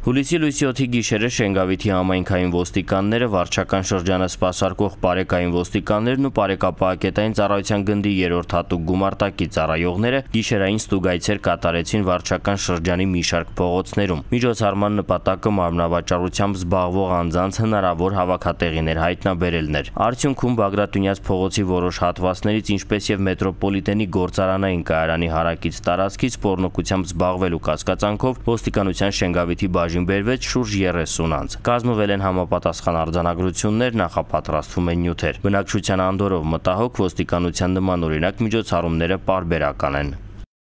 Հուլիսի լույսի 7-ի գիշերը Շենգավիթի համայնքային ոստիկանները, վարչական շրջանը սպասարկող պարեկային ոստիկաններն ու պարեկապահակետային ծառայության գնդի 3-րդ հատուկ գումարտակի ծառայողները գիշերային ստուգայցեր կատարեցին վարչական շրջանի մի շարք փողոցներում։ Միջոցառման նպատակը մարմնավաճառությամբ զբաղվող անձանց հնարավոր հավաքատեղիներ հայտնաբերելն էր։ Արդյունքում Բագրատունյաց փողոցի որոշ հատվածներից, ինչպես եւ մետրոպոլիտենի գործարանային կայարանի հարակից տարածքից պոռնոկությամբ զբաղվելու կասկածանքով ոստիկանության Շենգավիթի բերվեց շուրջ 30 անձ։ Կազմվել են համապատասխան արձանագրություններ, նախապատրաստվում են նյութեր։ Բնակչության անդորով մտահոգ ոստիկանության նմանօրինակ միջոցառումները պարբերական են։